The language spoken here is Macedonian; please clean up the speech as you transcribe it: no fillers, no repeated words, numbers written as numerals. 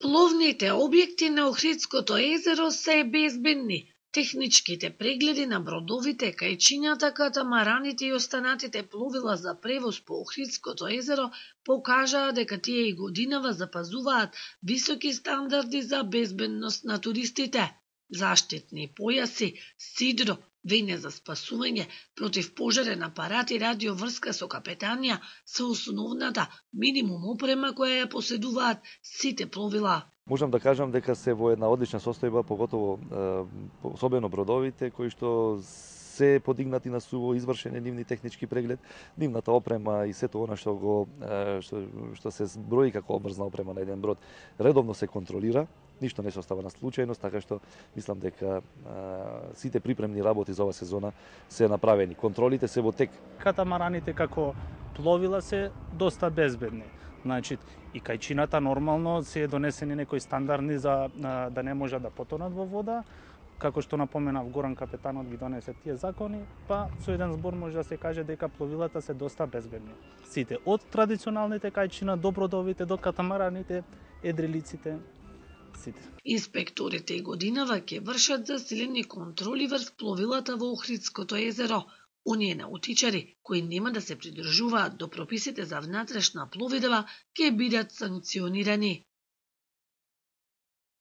Пловните објекти на Охридското езеро се безбедни. Техничките прегледи на бродовите, кајчињата, катамараните и останатите пловила за превоз по Охридското езеро покажаа дека тие и годинава запазуваат високи стандарди за безбедност на туристите. Заштитни појаси, сидро, вење за спасување, противпожарен апарат и радиоврска со капетанија се основната минимум опрема која ја поседуваат сите пловила. Можам да кажам дека се во една одлична состојба, поготово особено бродовите кои што се подигнати на суво, извршен е нивни технички преглед, нивната опрема и сето она што се зброи како обрзна опрема на еден брод редовно се контролира. Ништо не се остава на случајност, така што мислам дека сите припремни работи за оваа сезона се направени. Контролите се во тек. Катамараните како пловила се доста безбедни. Значи, и кајчината нормално се е донесени некои стандарди за да не може да потонат во вода, како што напоменав Горан капетанот ги донесе тие закони, па со еден збор може да се каже дека пловилата се доста безбедни. Сите, од традиционалните кајчина до бродовите, до катамараните, едрилиците, сите. Инспекторите и годинава ќе вршат засилени контроли врз пловилата во Охридското езеро. Оние наутичари кои нема да се придржуваат до прописите за внатрешна пловидба ќе бидат санкционирани.